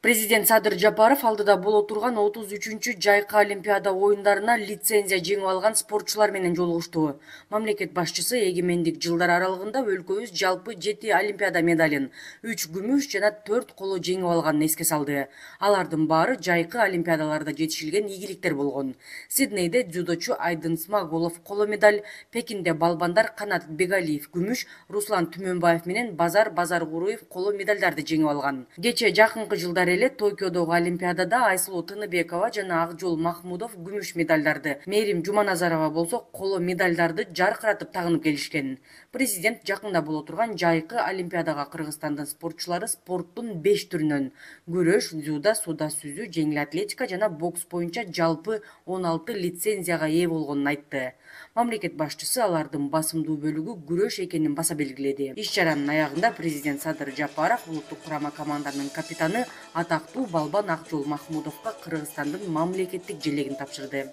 Президент Садыр Жапаров алдыда боло турган 33-чү жайкы Олимпиада оюндарына лицензия жеңип алган спортчулар менен жолугушту. Мамлекет башчысы эгемендик жылдар аралыгында өлкөбүз жалпы 7 Олимпиада медалин, 3 күмүш жана 4 коло жеңип алганын эске салды. Алардын баары жайкы Олимпиадаларда жетишилген ийгиликтер болгон. Сиднейде дзюдочу Айдын Смагулов коло медаль, Пекинде балбандар Канат Бегалиев күмүш, Руслан Түмөнбаев менен Базар Базаркуруев коло медалдарды жеңип алган. Кече жакынкы жылдар эле Токиодогу Олимпиадада Айсулуу Тыныбекова жана Акжол Махмудов күмүш медалдарды, Мээрим Жуманазарова болсо коло медалдарды жаркыратып тагынып келишкен. Президент жакында боло турган жайкы Олимпиадага Кыргызстандын спортчулары спорттун 5 түрүнөн күрөш, дзюдо, сууда сүзүү, жеңил атлетика жана бокс боюнча жалпы 16 лицензияга ээ болгонун айтты. Мамлекет башчысы алардын басымдуу бөлүгү күрөш экенин баса белгиледи. Иш-чаранын аягында президент Садыр Жапаров улуттук курама команданын капитаны атактуу балбан Акжол Махмудовго Кыргызстандын мамлекеттик желегин тапшырды.